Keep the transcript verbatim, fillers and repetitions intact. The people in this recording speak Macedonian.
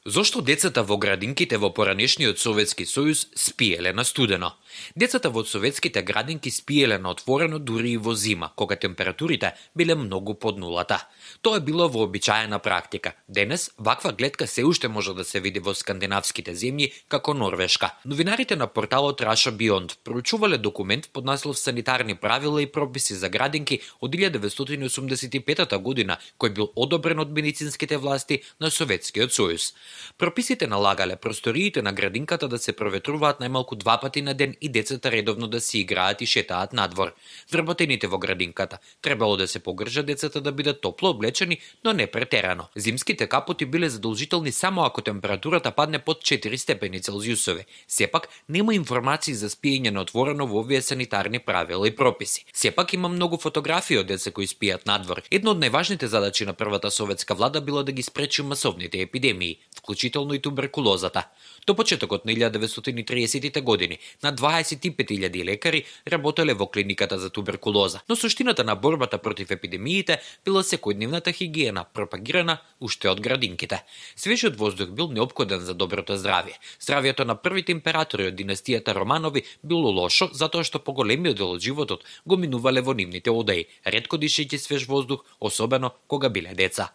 Зошто децата во градинките во поранешниот Советски сојуз спиеле на студено? Децата во советските градинки спиеле на отворено дури и во зима, кога температурите биле многу под нулата. Тоа било вообичаена практика. Денес ваква гледка се уште може да се види во скандинавските земји како Норвешка. Новинарите на порталот Russia Beyond проучувале документ под наслов Санитарни правила и прописи за градинки од илјада деветстотини осумдесет и петата година, кој бил одобрен од медицинските власти на Советскиот сојуз. Прописите налагале просториите на градинката да се проветруваат најмалку два пати на ден и децата редовно да си играат и шетаат надвор. Вработените во градинката требало да се погржат децата да бидат топло облечени, но не претерано. Зимските капоти биле задолжителни само ако температурата падне под четири степени Целзиусови. Сепак нема информации за спиење на отворено во овие санитарни правила и прописи. Сепак има многу фотографии од деца кои спијат надвор. Една од најважните задачи на првата советска влада била да ги спречи масовните епидемии, вклучително и туберкулозата. До почетокот на илјада деветстотини триесеттите години на дваесет и пет илјади лекари работеле во клиниката за туберкулоза, но суштината на борбата против епидемиите била секојдневната хигиена, пропагирана уште од градинките. Свежиот воздух бил неопходен за доброто здравје. Здравјето на првите императори од династијата Романови било лошо затоа што поголемиот дел од животот го минувале во нивните одеи, ретко дишејќи свеж воздух, особено кога биле деца.